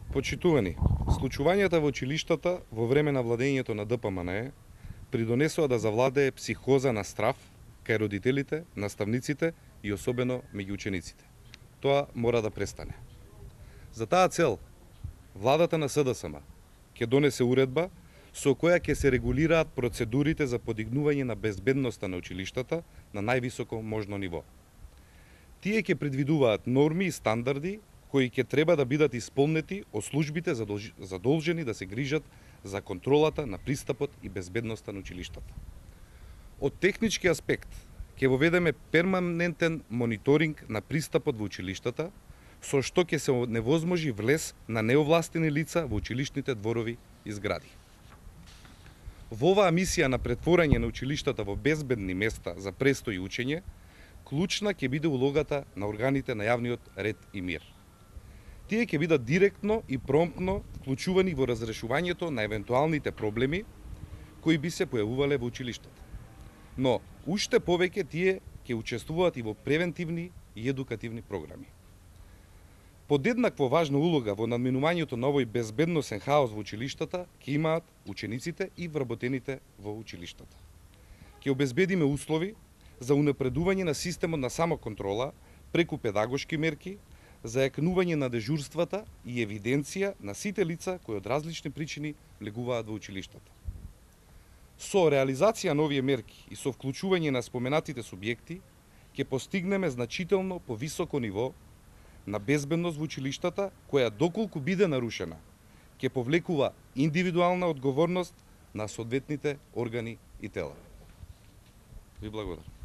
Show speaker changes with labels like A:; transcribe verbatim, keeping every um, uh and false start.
A: Почитувани, случувањата во училиштата во време на владењето на Д П М Н Е придонесоа да завладее психоза на страв кај родителите, наставниците и особено меѓу учениците. Тоа мора да престане. За таа цел, владата на С Д С М ќе донесе уредба со која ќе се регулираат процедурите за подигнување на безбедноста на училиштата на највисоко можно ниво. Тие ќе предвидуваат норми и стандарди кои ќе треба да бидат исполнети од службите задолжени да се грижат за контролата на пристапот и безбедноста на училиштата. Од технички аспект ќе воведеме перманентен мониторинг на пристапот во училиштата, со што ќе се невозможи влез на неовластени лица во училишните дворови и згради. Во оваа мисија на претворање на училиштата во безбедни места за престој и учење, клучна ќе биде улогата на органите на јавниот ред и мир. Тие ќе бидат директно и промптно вклучувани во разрешувањето на евентуалните проблеми кои би се појавувале во училиштата. Но, уште повеќе тие ќе учествуваат и во превентивни и едукативни програми. Подеднакво важна улога во надминувањето на овој безбедносен хаос во училиштата ќе имаат учениците и вработените во училиштата. Ќе обезбедиме услови за унапредување на системот на самоконтрола преку педагошки мерки, зајакнување на дежурствата и евиденција на сите лица кои од различни причини влегуваат во училиштата. Со реализација на овие мерки и со вклучување на споменатите субјекти, ќе постигнеме значително повисоко ниво на безбедност во училиштата, која доколку биде нарушена, ќе повлекува индивидуална одговорност на соодветните органи и тела. Ви благодарам.